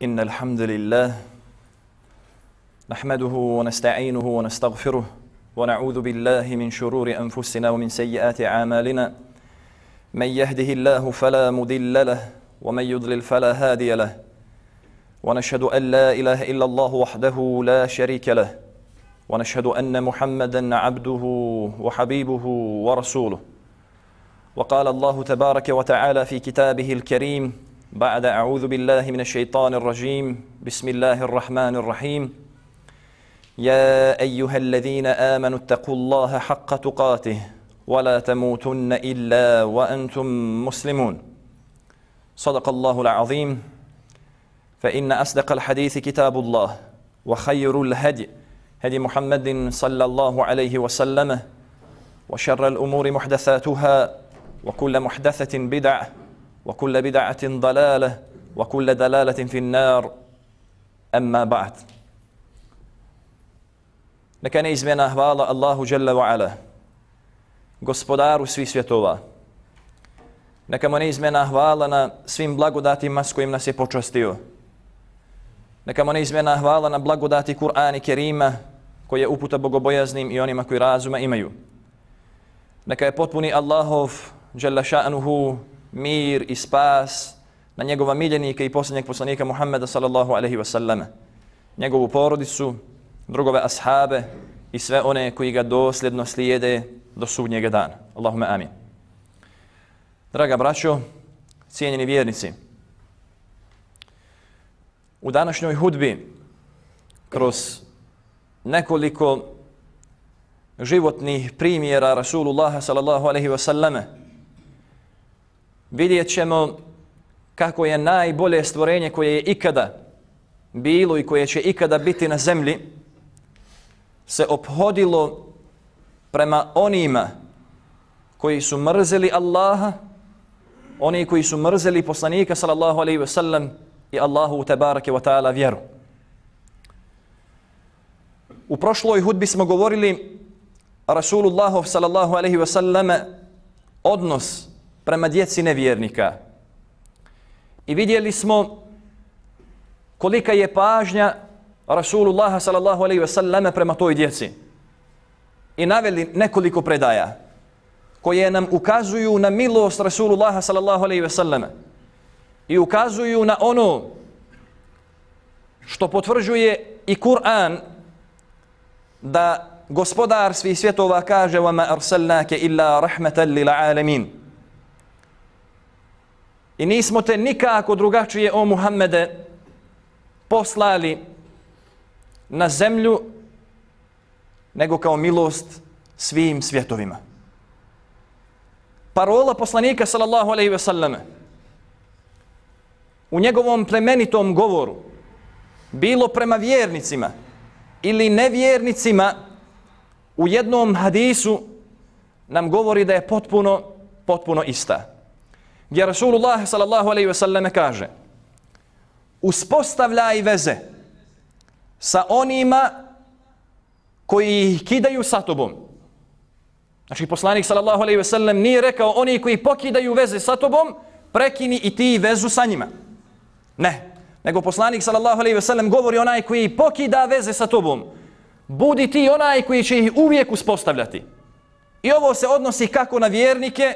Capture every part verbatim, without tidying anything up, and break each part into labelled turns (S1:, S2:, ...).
S1: إن الحمد لله نحمده ونستعينه ونستغفره ونعوذ بالله من شرور أنفسنا ومن سيئات أعمالنا من يهده الله فلا مضل له ومن يضلل فلا هادي له ونشهد أن لا إله إلا الله وحده لا شريك له ونشهد أن محمدا عبده وحبيبه ورسوله وقال الله تبارك وتعالى في كتابه الكريم بعد أعوذ بالله من الشيطان الرجيم بسم الله الرحمن الرحيم يا أيها الذين آمنوا اتقوا الله حق تقاته ولا تموتن إلا وأنتم مسلمون صدق الله العظيم فإن أصدق الحديث كتاب الله وخير الهدي هدي محمد صلى الله عليه وسلم وشر الأمور محدثاتها وكل محدثة بدعة وكل بدعة ضلالة وكل دلالة في النار أما بعد Neka neizmjena hvala Allahu Jalla wa Ala, gospodaru svih svjetova. Neka mu neizmjena hvala na svim blagodatima s kojim nas je počastio. Neka mu neizmjena hvala na blagodati Kur'ana Kerima koji je uputa bogobojaznim i onima koji razuma imaju. Neka je potpuni Allahov Jalla ša'nuhu mir i spas na njegova miljenika i posljednjeg poslanika Muhammeda sallallahu alaihi wasallam, njegovu porodicu, drugove ashabe i sve one koji ga dosljedno slijede do sudnjega dana. Allahumma amin. Draga braćo, cijenjeni vjernici, u današnjoj hudbi kroz nekoliko životnih primjera Rasulullaha sallallahu alaihi wasallam vidjet ćemo kako je najbolje stvorenje koje je ikada bilo i koje će ikada biti na zemlji se ophodilo prema onima koji su mrzeli Allaha, oni koji su mrzeli poslanika sallallahu alaihi wa sallam i Allahu tebareke wa ta'ala vjeru. U prošloj hudbi smo govorili Rasulullahu sallallahu alaihi wa sallam odnos prema djeci nevjernika. I vidjeli smo kolika je pažnja Rasulullah sallallahu alaihi wa sallam prema toj djeci. I naveli nekoliko predaja koje nam ukazuju na milost Rasulullah sallallahu alaihi wa sallam i ukazuju na ono što potvrđuje i Kur'an, da gospodar svih svjetova kaže وَمَا أَرْسَلْنَاكَ إِلَّا رَحْمَةً لِلْعَالَمِينَ. I nismo te nikako drugačije, o Muhammede, poslali na zemlju nego kao milost svim svjetovima. Parola poslanika sallallahu alejhi ve selleme u njegovom plemenitom govoru, bilo prema vjernicima ili nevjernicima, u jednom hadisu nam govori da je potpuno, potpuno ista. Gdje Rasulullah sallallahu alejhi ve selleme kaže: uspostavljaj veze sa onima koji ih kidaju sa tobom. Znači poslanik sallallahu alejhi ve sellem nije rekao oni koji pokidaju veze sa tobom, prekini i ti vezu sa njima. Ne. Nego poslanik sallallahu alejhi ve sellem govori onaj koji pokida veze sa tobom, budi ti onaj koji će ih uvijek uspostavljati. I ovo se odnosi kako na vjernike,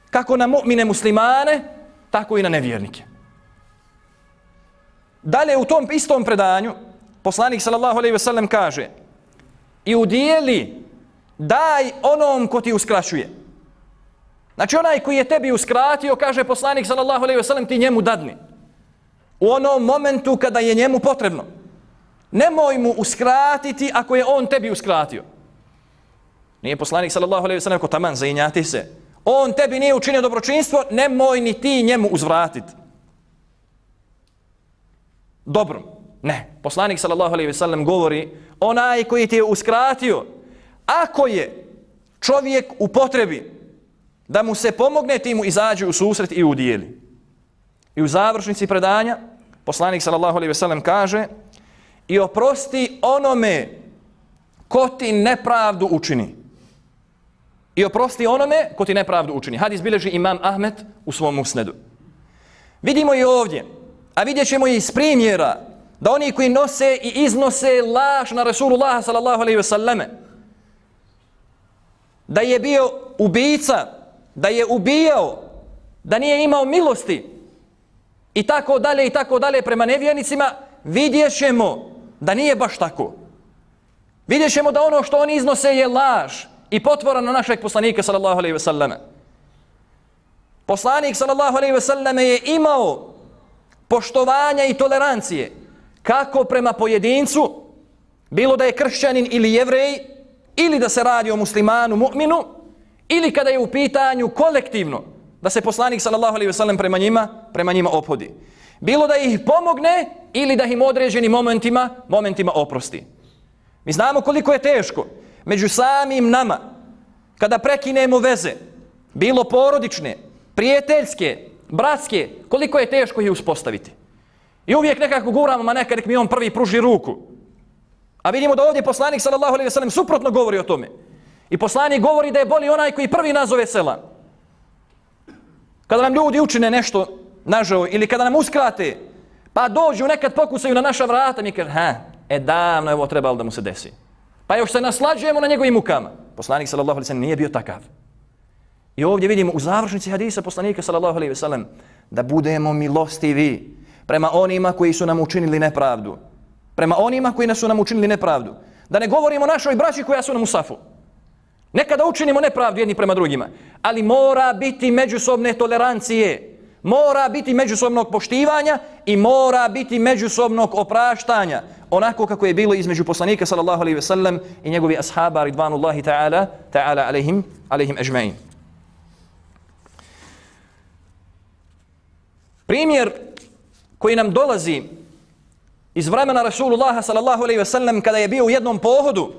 S1: kako na mu'mine muslimane, tako i na nevjernike. Dalje u tom istom predanju poslanik sallallahu alejhi ve sellem kaže: i udijeli, daj onom ko ti uskraćuje. Znači onaj koji je tebi uskratio, kaže poslanik sallallahu alejhi ve sellem, ti njemu dadni u onom momentu kada je njemu potrebno. Nemoj mu uskratiti ako je on tebi uskratio. Nije poslanik sallallahu alejhi ve sellem ko taman zainjati se. On tebi nije učinio dobročinstvo, nemoj ni ti njemu uzvratiti. Dobro. Ne. Poslanik sallallahu alejhi ve sellem govori onaj koji ti je uskratio, ako je čovjek u potrebi da mu se pomogne, ti mu izađi u susret i udijeli. I u završnici predanja poslanik sallallahu alejhi ve sellem kaže: i oprosti onome ko ti nepravdu učini. I oprosti onome ko ti nepravdu učini. Hadis bilježi imam Ahmed u svom musnedu. Vidimo i ovdje A vidjet ćemo i iz primjera da oni koji nose i iznose laž na Rasulullah sallallahu alejhi ve selleme, da je bio ubica, da je ubijao, da nije imao milosti i tako dalje i tako dalje prema nevjernicima, vidjet ćemo da nije baš tako. Vidjet ćemo da ono što oni iznose je laž i potvora na našeg poslanika sallallahu alejhi ve selleme. Poslanik sallallahu alejhi ve selleme je imao poštovanja i tolerancije kako prema pojedincu, bilo da je kršćanin ili jevrej, ili da se radi o muslimanu, mu'minu, ili kada je u pitanju kolektivno da se poslanik sallallahu alejhi ve sellem prema njima, prema njima ophodi. Bilo da ih pomogne ili da im određenim momentima, momentima oprosti. Mi znamo koliko je teško među samim nama kada prekinemo veze, bilo porodične, prijateljske, bratske, koliko je teško ih uspostaviti. I uvijek nekako guramo, ma neka nek mi on prvi pruži ruku. A vidimo da ovdje poslanik sallallahu alejhi ve sellem suprotno govori o tome. I poslanik govori da je bolji onaj koji prvi nazove selam. Kada nam ljudi učine nešto nažao ili kada nam uskrate, pa dođu nekad pokusaju na naša vrata, mi kaže, ha, e davno je ovo trebalo da mu se desi. Pa još se naslađujemo na njegovim mukama. Poslanik sallallahu alejhi ve sellem nije bio takav. I ovdje vidimo u završnici hadisa poslanika sallallahu alejhi ve sellem da budemo milostivi prema onima koji su nam učinili nepravdu. Prema onima koji su nam učinili nepravdu. Da ne govorimo o našoj braći koja su nam u safu. Nekada učinimo nepravdu jedni prema drugima, ali mora biti međusobne tolerancije, mora biti međusobnog poštivanja i mora biti međusobnog opraštanja, onako kako je bilo između poslanika sallallahu alejhi ve sellem i njegovi ashaba ridvanullahi ta'ala ta'ala alejhim alejhim ejma'in. Primjer koji nam dolazi iz vremena Rasulullaha sallallahu alejhi ve sellem kada je bio u jednom pohodu,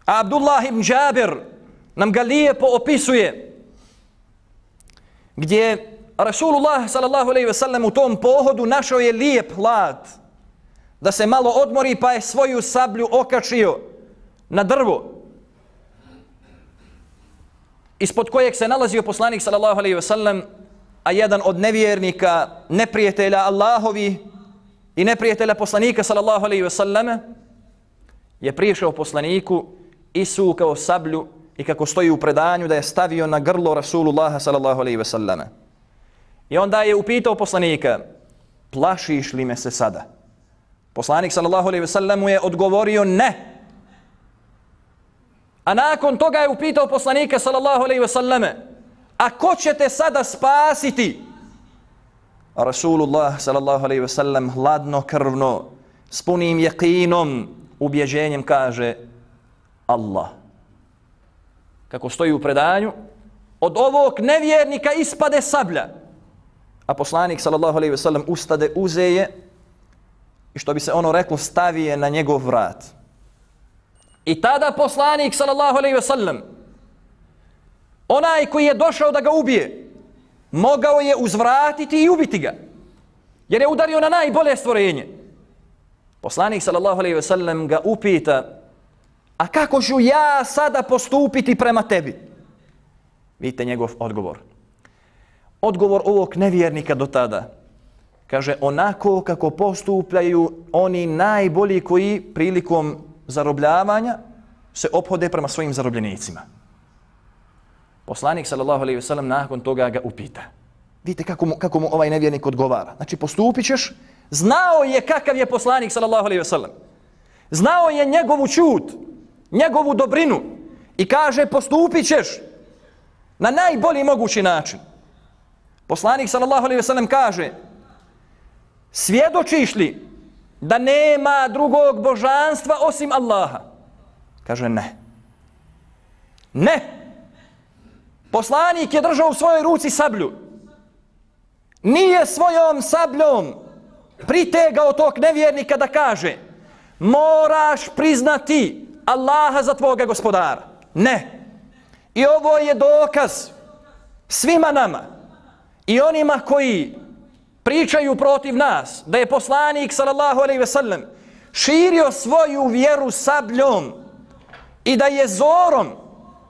S1: a Abdullah ibn Džabir nam ga lijepo opisuje, gdje Rasulullah sallallahu alejhi ve sellem u tom pohodu našao je lijep hlad da se malo odmori, pa je svoju sablju okačio na drvo ispod kojeg se nalazio poslanik sallallahu alejhi ve sellem, a jedan od nevjernika, neprijatelja Allahovi i neprijatelja poslanika sallallahu alejhi ve selleme je prišao poslaniku, isukao sablju i kako stoji u predanju da je stavio na grlo Rasulullaha sallallahu alejhi ve selleme. I onda je upitao poslanika, plašiš li me se sada? Poslanik sallallahu alejhi ve sellem mu je odgovorio ne. A nakon toga je upitao poslanika sallallahu alejhi ve selleme, a ko će te sada spasiti? A Rasulullah sallallahu alejhi ve sellem hladno krvno, s punim yaqinom, ubjeđenjem kaže Allah. Kako stoji u predanju, od ovog nevjernika ispade sablja, a poslanik sallallahu alejhi ve sellem ustade, uzeje i što bi se ono reklo stavije na njegov vrat. I tada poslanik sallallahu alejhi ve sellem, onaj koji je došao da ga ubije, mogao je uzvratiti i ubiti ga, jer je udario na najbolje stvorenje. Poslanik sallallahu alejhi ve sellem ga upita, a kako ću ja sada postupiti prema tebi? Vidite njegov odgovor. Odgovor ovog nevjernika do tada. Kaže, onako kako postupljaju oni najbolji koji prilikom zarobljavanja se ophode prema svojim zarobljenicima. Poslanik sallallahu alejhi ve sellem nakon toga ga upita. Vidite kako mu, kako mu ovaj nevjernik odgovara. Znači postupit ćeš, znao je kakav je poslanik sallallahu alejhi ve sellem. Znao je njegovu čut, njegovu dobrinu i kaže postupit ćeš na najbolji mogući način. Poslanik sallallahu alejhi ve sellem kaže, svjedočiš li da nema drugog božanstva osim Allaha? Kaže ne. Ne. Poslanik je držao u svojoj ruci sablju. Nije svojom sabljom pritegao tog nevjernika da kaže, moraš priznati Allaha za tvoga gospodara. Ne. I ovo je dokaz svima nama i onima koji pričaju protiv nas da je poslanik sallallahu alejhi ve sellem širio svoju vjeru sabljom i da je zorom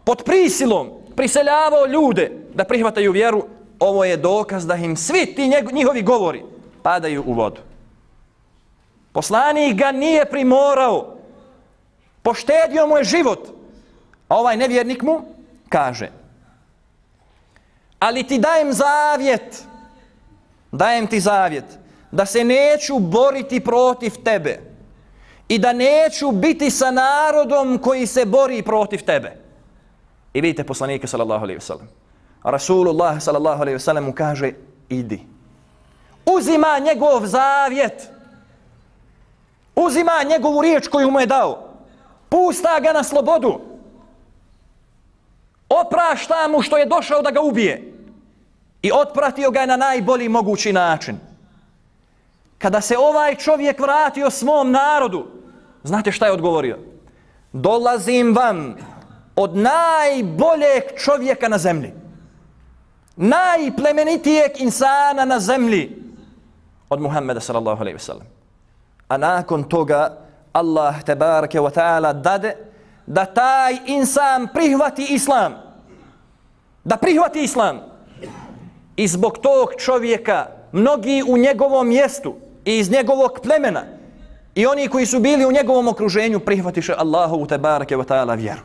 S1: pod prisilom priseljavao ljude da prihvataju vjeru. Ovo je dokaz da im svi ti njihovi govori padaju u vodu. Poslanik ga nije primorao, poštedio mu je život, a ovaj nevjernik mu kaže: ali ti dajem zavjet, dajem ti zavjet da se neću boriti protiv tebe i da neću biti sa narodom koji se bori protiv tebe. I vidite poslanika sallallahu alejhi ve sellem. Rasulullah sallallahu alejhi ve sellem mu kaže: idi. Uzima njegov zavjet, uzima njegovu riječ koju mu je dao, pusta ga na slobodu, oprašta mu što je došao da ga ubije i otpratio ga je na najbolji mogući način. Kada se ovaj čovjek vratio svom narodu, znate šta je odgovorio? Dolazim vam od najboljeg čovjeka na zemlji, najplemenitijeg insana na zemlji, od Muhammeda sallallahu alejhi ve sellem. A nakon toga Allah tebareke wa ta'ala dade da taj insan prihvati islam, da prihvati islam. I zbog tog čovjeka mnogi u njegovom mjestu i iz njegovog plemena i oni koji su bili u njegovom okruženju prihvatiše Allahovu tebareke wa ta'ala vjeru.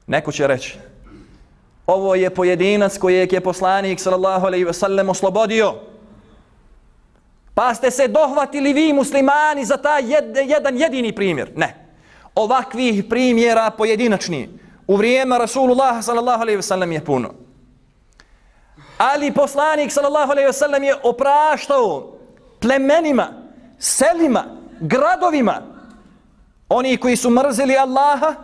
S1: Neko će reći: ovo je pojedinac kojeg je poslanik sallallahu alejhi ve sellem oslobodio, pa ste se dohvatili vi muslimani za taj jed, jedan jedini primjer. Ne. Ovakvih primjera pojedinačni u vrijeme Rasulullah sallallahu alejhi ve sellem je puno. Ali poslanik sallallahu alejhi ve sellem je opraštao plemenima, selima, gradovima, oni koji su mrzeli Allaha,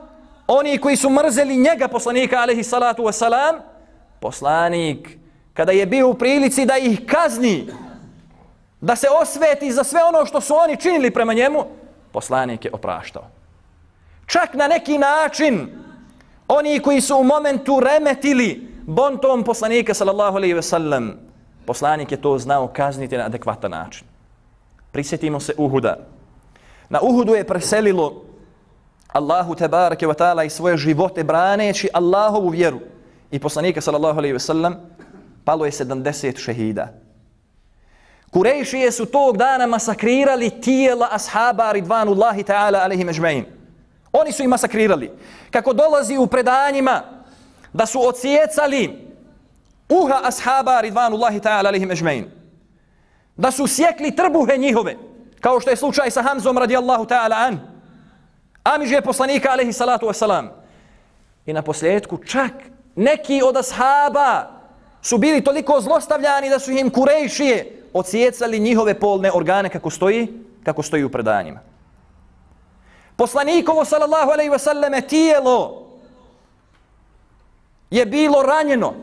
S1: oni koji su mrzeli njega, poslanika alejhi salatu wasalam. Poslanik, kada je bio u prilici da ih kazni, da se osveti za sve ono što su oni činili prema njemu, poslanik je opraštao. Čak na neki način oni koji su u momentu remetili bontom poslanika sallallahu alejhi ve sellem, poslanik je to znao kazniti na adekvatan način. Prisjetimo se Uhuda. Na Uhudu je preselilo Allahu tebareke ve taala i svoje živote braneći Allahovu vjeru i poslanika sallallahu alejhi ve sellem, palo je sedamdeset šehida. Kurejšije su tog dana masakrirali tijela ashaba ridvanullahi ta'ala alejhim ejma'in. Oni su ih masakrirali. Kako dolazi u predanjima da su odsjecali uha ashaba ridvanullahi ta'ala alejhim ejma'in, da su sjekli trbuhe njihove, kao što je slučaj sa Hamzom radijallahu ta'ala an, amiže poslanika alejhi salatu wasalam. I na posljedku čak neki od ashaba su bili toliko zlostavljani da su im Kurejšije odsjecali njihove polne organe, kako stoji, kako stoji u predanjima. Poslanikovo sallallahu alejhi ve selleme tijelo je bilo ranjeno,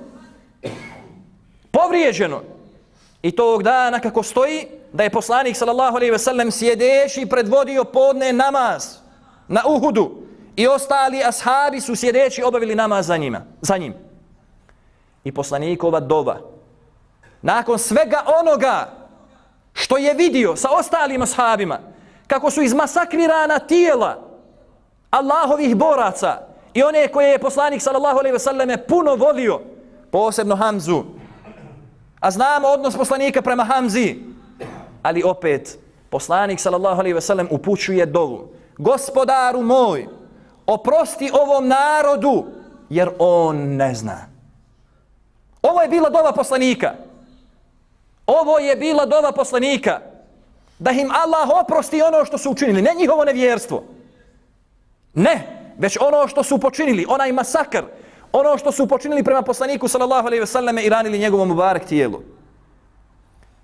S1: povrijeđeno. I tog dana kako stoji da je poslanik sallallahu alejhi ve sellem sjedeći predvodio podne namaz na Uhudu i ostali ashabi su sjedeći obavili namaz za njima, za njim. I poslanikova dova, nakon svega onoga što je vidio sa ostalim ashabima, kako su izmasakrirana tijela Allahovih boraca i one koje je poslanik sallallahu alejhi ve selleme puno volio, posebno Hamzu. A znamo odnos poslanika prema Hamzi, ali opet poslanik sallallahu alejhi ve sellem upućuje dovu: Gospodaru moj, oprosti ovom narodu jer on ne zna. Ovo je bila dova poslanika. Ovo je bila dova poslanika da im Allah oprosti ono što su učinili, ne njihovo nevjerstvo. Ne, već ono što su počinili, onaj masakr, ono što su počinili prema poslaniku sallallahu alejhi ve selleme i ranili njegovom mubarek tijelu.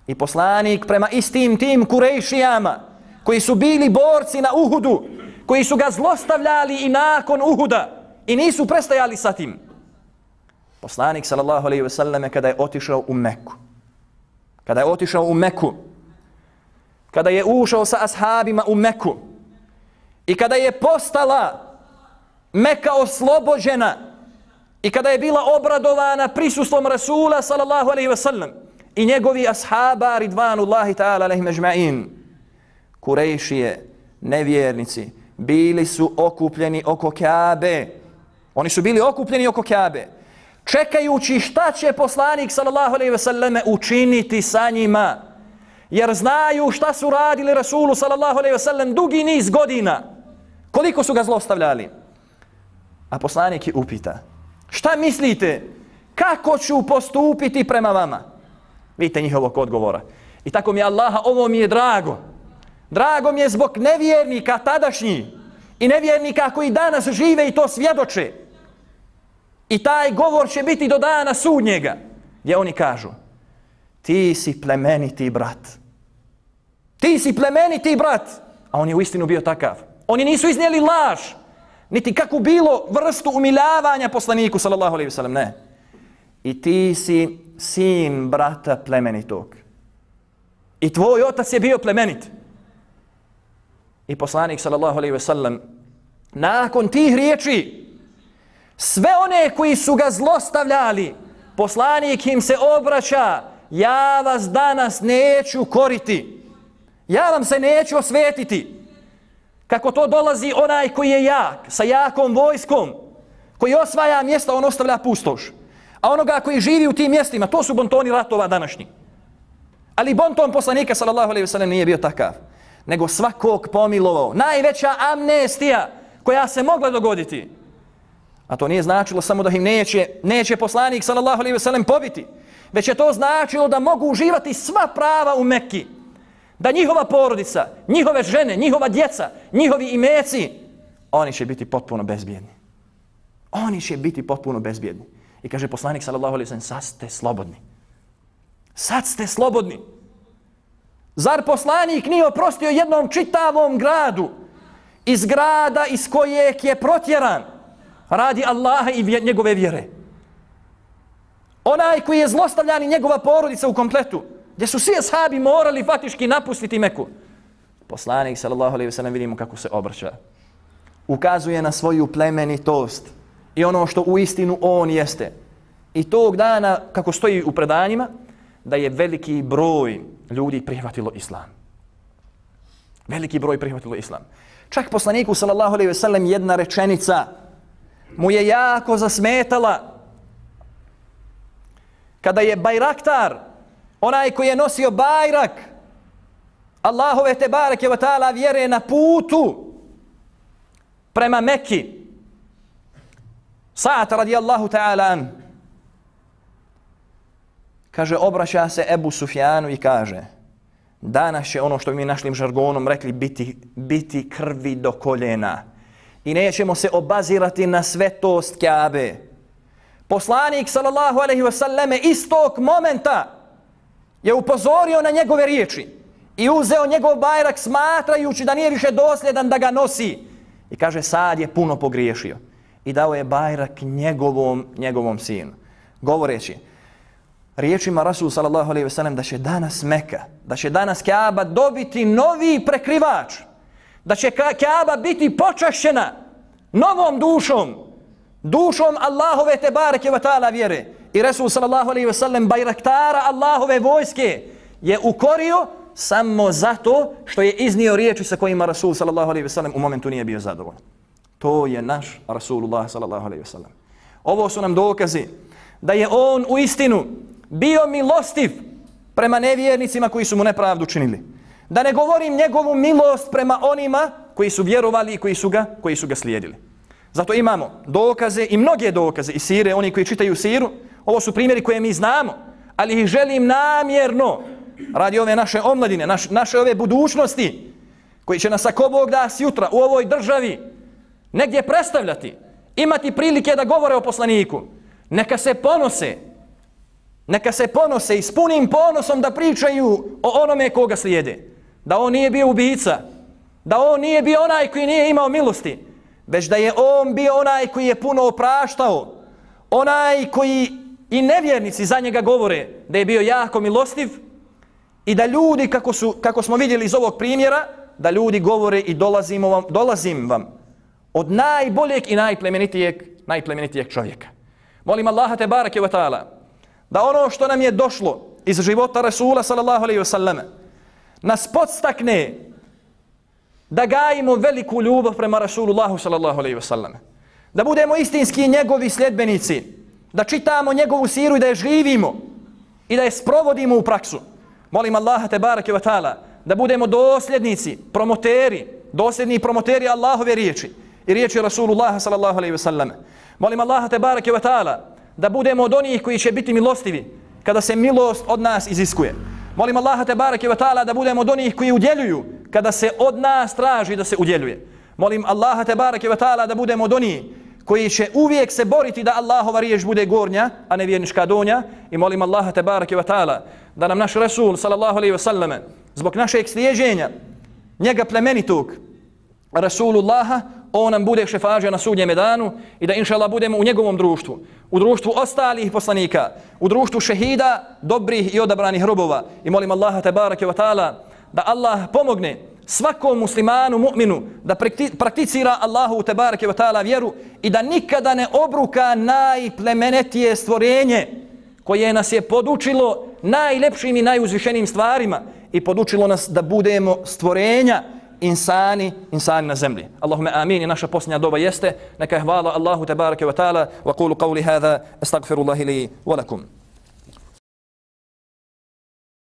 S1: I poslanik prema istim tim Kurejšijama koji su bili borci na Uhudu, koji su ga zlostavljali i nakon Uhuda i nisu prestajali sa tim. Poslanik sallallahu alejhi ve selleme kada je otišao u Meku, kada je otišao u Meku, kada je ušao sa ashabima u Meku i kada je postala Meka oslobođena i kada je bila obradovana prisustvom Rasula sallallahu alejhi ve sellem i njegovi ashaba ridvanullahi ta'ala alejhim ejma'in, Kurejšije, nevjernici, bili su okupljeni oko Kabe. Oni su bili okupljeni oko Kabe, čekajući šta će poslanik sallallahu alejhi ve selleme učiniti sa njima, jer znaju šta su radili Rasulu sallallahu alejhi ve sellem dugi niz godina. Koliko su ga zlostavljali. A poslanik je upita, šta mislite, kako ću postupiti prema vama? Vidite njihovog odgovora. I tako mi je Allaha, ovo mi je drago. Drago mi je zbog nevjernika tadašnjih i nevjernika koji danas žive i to svjedoče. I taj govor će biti do dana sudnjega, gdje oni kažu, ti si plemeniti brat. Ti si plemeniti brat. A on je uistinu bio takav. Oni nisu iznijeli laž, niti kakvu bilo vrstu umiljavanja poslaniku, sallallahu alejhi ve sellem, ne. I ti si sin brata plemenitog. I tvoj otac je bio plemenit. I poslanik, sallallahu alejhi ve sellem, nakon tih riječi, sve one koji su ga zlostavljali, poslanik im se obraća, ja vas danas neću koriti. Ja vam se neću osvetiti. Kako to dolazi onaj koji je jak, sa jakom vojskom, koji osvaja mjesta, on ostavlja pustoš. A onoga koji živi u tim mjestima, to su bontoni ratova današnji. Ali bonton poslanika, sallallahu alejhi ve sellem, nije bio takav, nego svakog pomilovao. Najveća amnestija koja se mogla dogoditi. A to nije značilo samo da im neće, neće poslanik, sallallahu alejhi ve sellem, pobiti, već je to značilo da mogu uživati sva prava u Mekki. Da njihova porodica, njihove žene, njihova djeca, njihovi imeci, oni će biti potpuno bezbjedni. Oni će biti potpuno bezbjedni. I kaže poslanik, sallallahu alejhi ve sellem, sad ste slobodni. Sad ste slobodni. Zar poslanik nije oprostio jednom čitavom gradu iz grada iz kojeg je protjeran radi Allaha i njegove vjere? Onaj koji je zlostavljan i njegova porodica u kompletu, gdje su svi ashabi morali faktički napustiti Meku. Poslanik, sallallahu alejhi ve sellem, vidimo kako se obraća. Ukazuje na svoju plemenitost i ono što u istinu on jeste. I tog dana, kako stoji u predanjima, da je veliki broj ljudi prihvatilo islam. Veliki broj prihvatilo islam. Čak poslaniku, sallallahu alejhi ve sellem, jedna rečenica mu je jako zasmetala. Kada je Bajraktar, onaj koji je nosio bajrak Allahove te bareke ve taala vjere na putu prema Mekki, Sa'd radijallahu ta'ala an, kaže, obraća se Ebu Sufjanu i kaže, danas će ono što bi mi našlim žargonom rekli biti, biti krvi do koljena i nećemo se obazirati na svetost Kjabe. Poslanik, sallallahu alejhi ve selleme, istog momenta je upozorio na njegove riječi i uzeo njegov bajrak smatrajući da nije više dosljedan da ga nosi. I kaže, sad je puno pogriješio. I dao je bajrak njegovom, njegovom sinu. Govoreći riječima Rasul, sallallahu alejhi ve sellem, da će danas Meka, da će danas Kjaba dobiti novi prekrivač, da će Kjaba biti počašćena novom dušom, dušom Allahove te bareke ve taala vjere. I Resul, sallallahu alejhi ve sellem, bajraktara Allahove vojske je ukorio samo zato što je iznio riječi sa kojima Rasul, sallallahu alejhi ve sellem, u momentu nije bio zadovoljan. To je naš Rasulullah, sallallahu alejhi ve sellem. Ovo su nam dokazi da je on u istinu bio milostiv prema nevjernicima koji su mu nepravdu činili. Da ne govorim njegovu milost prema onima koji su vjerovali i koji su ga, koji su ga slijedili. Zato imamo dokaze i mnoge dokaze iz sire, oni koji čitaju siru. Ovo su primjeri koje mi znamo, ali ih želim namjerno radi ove naše omladine, naš, naše ove budućnosti, koji će nas ako Bog da sutra u ovoj državi negdje predstavljati, imati prilike da govore o poslaniku. Neka se ponose, neka se ponose i s punim ponosom da pričaju o onome koga slijede. Da on nije bio ubica, da on nije bio onaj koji nije imao milosti, već da je on bio onaj koji je puno opraštao, onaj koji i nevjernici za njega govore da je bio jako milostiv i da ljudi, kako, su, kako smo vidjeli iz ovog primjera, da ljudi govore i dolazim vam, dolazim vam od najboljeg i najplemenitijeg, najplemenitijeg čovjeka. Molim Allaha te bareke ve taala da ono što nam je došlo iz života Rasula, sallallahu alejhi ve selleme, nas podstakne da gajimo veliku ljubav prema Rasulullahu, sallallahu alejhi ve selleme. Da budemo istinski njegovi sljedbenici, da čitamo njegovu siru i da je živimo i da je sprovodimo u praksu. Molim Allaha tebareke ve taala da budemo dosljednici, promoteri, dosljedni promoteri Allahove riječi i riječi Rasulullaha sallallahu alejhi ve sellem. Molim Allaha tebareke ve taala da budemo od onih koji će biti milostivi kada se milost od nas iziskuje. Molim Allaha tebareke ve taala da budemo od onih koji udjeljuju kada se od nas traži da se udjeljuje. Molim Allaha tebareke ve taala da budemo od onih koji će uvijek se boriti da Allahova riječ bude gornja, a ne vjernička donja. I molim Allaha tebareke ve taala da nam naš Rasul sallallahu alejhi ve sellem zbog našeg slijeđenja njega plemenitog Rasulullaha, on nam bude šefađa na sudnjem danu i da inšallah budemo u njegovom društvu, u društvu ostalih poslanika, u društvu šehida, dobrih i odabranih robova. I molim Allaha tebareke ve taala da Allah pomogne svakom muslimanu, mu'minu da prakticira Allahu tebareke ve taala vjeru i da nikada ne obruka najplemenitije stvorenje koje nas je podučilo najlepšim i najuzvišenijim stvarima i podučilo nas da budemo stvorenja insani, insani na zemlji. Allahumma amin. I naša posljednja doba jeste neka je hvala Allahu tebareke ve taala wa qulu qawli hadha astaghfirullahi li wa lakum.